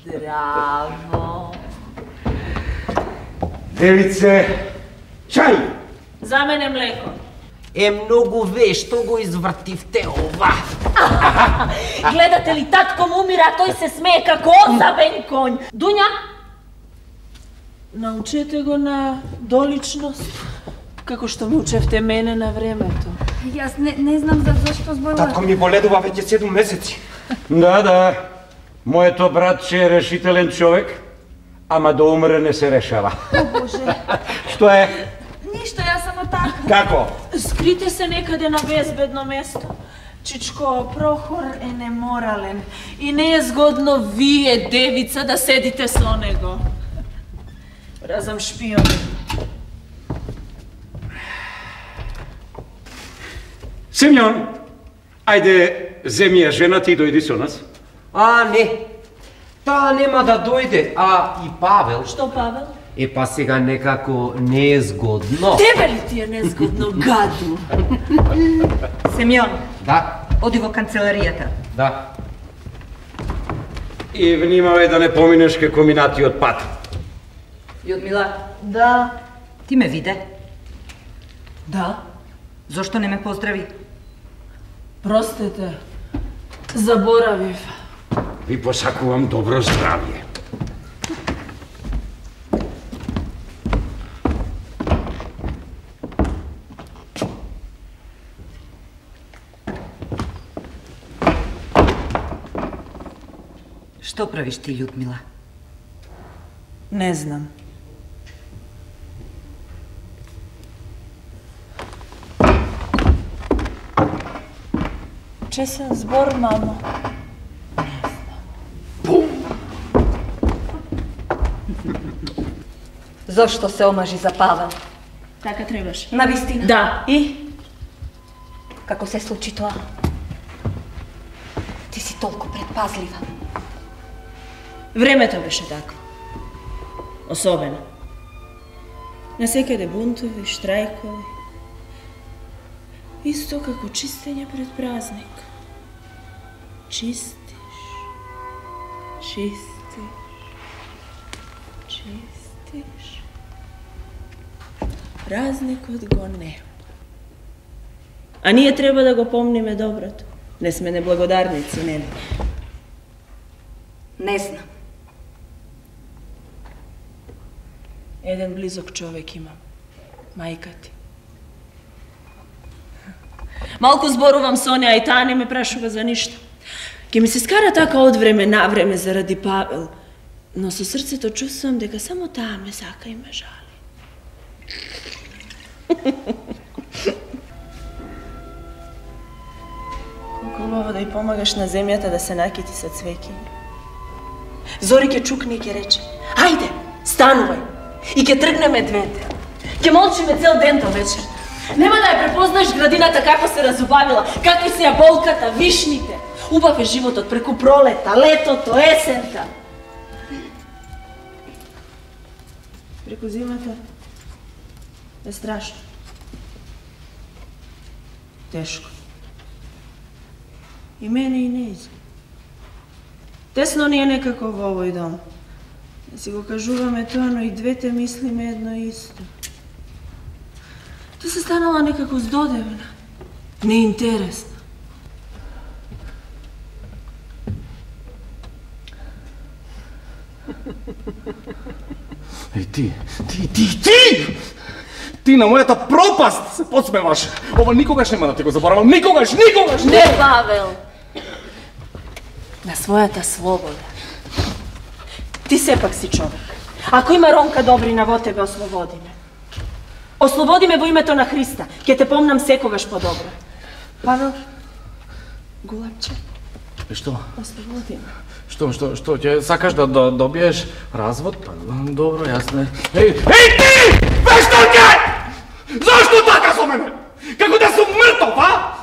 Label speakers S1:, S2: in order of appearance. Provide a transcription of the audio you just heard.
S1: Здраво.
S2: Девице, чај!
S1: За мене млеко.
S3: Многу вешто го извртивте ова.
S1: Гледате ли, татко му умира, а тој се смее како озабен конј. Дуња, научете го на доличност, како што ме учевте мене на времето.
S4: Јас не знам зашто зборува.
S2: Татко ми боледува веќе 7 месеци.
S5: Да. Моето братче е решителен човек, ама да умре не се решава.
S4: О, Боже.
S5: Што е?
S4: Ништо, јас само така.
S5: Како?
S1: Скрите се некаде на безбедно место. Чичко, Прохор е неморален и не е згодно вие, девица, да седите со него. Разам шпиони.
S5: Симеон, ајде, земи ја жената и дојди со нас.
S3: Не. Таа нема да дојде, а и Павел.
S1: Што, Павел?
S3: Па сега некако не е згодно.
S1: Тебе ли ти е незгодно, гаду?
S6: Семјон.
S3: Да.
S6: Оди во канцеларијата.
S3: Да.
S5: И внимавај да не поминеш како минатиот пат.
S6: Јудмила,
S1: Да.
S6: ти ме виде?
S1: Да.
S6: Зошто не ме поздрави?
S1: Простете. Заборавив.
S5: Ви посакувам добро здравје.
S6: Што правиш ти, Људмила?
S1: Не знам. Чесен збор, мамо.
S6: Зошто се омажи за Павел?
S1: Така требаш.
S6: Навистина?
S1: Да.
S6: И? Како се случи тоа? Ти си толку предпазлива.
S1: Времето беше такво. Особено. Насекаде бунтови, штрајкови. Исто како чистење пред празник. Чистиш. Празникот го нема. А ние треба да го помниме доброто. Не сме неблагодарници, не.
S6: Не знам.
S1: Еден близок човек имам. Мајка ти. Малку зборувам со неа и таа не ме прашува за ништо. Ке ми се скара така од време на време заради Павел, но со срцето чувствувам дека само таа ме сака и ме жали. Колку убаво да ја помагаш на земјата да се накити со цвеќиња. Зори ке чукне и ке рече: ајде, станувај! И ке тргнеме двете. Ке молчиме цел ден до вечер. Нема да ја препознаеш градината како се разубавила, какви се јаболката, вишните. Убав е животот преку пролета, летото, есента. Преку зимата е страшно. Тешко. И мене и нејзе. Тесно ни е некако во овој дом. Да си го кажуваме тоа, но и двете мислиме едно исто. Ти се станала некако здодевна, неинтересна.
S2: Ти! Ти на мојата пропаст се подсмеваш. Ова никогаш нема да ти го заборавам. Никогаш!
S1: Не, Павел! На својата слобода. Ти сепак си човек. Ако има Ронка Добрина во тебе, ослободиме. Ослободиме во името на Христа. Ке те помнам секогаш подобро. Павел, гулапче.
S2: Што?
S1: Ослободиме.
S2: Што, ќе сакаш да добиеш развод? Добро, јасно. Еј, ти! Вешталке! Зашто така со мене? Како да сум мртов, а?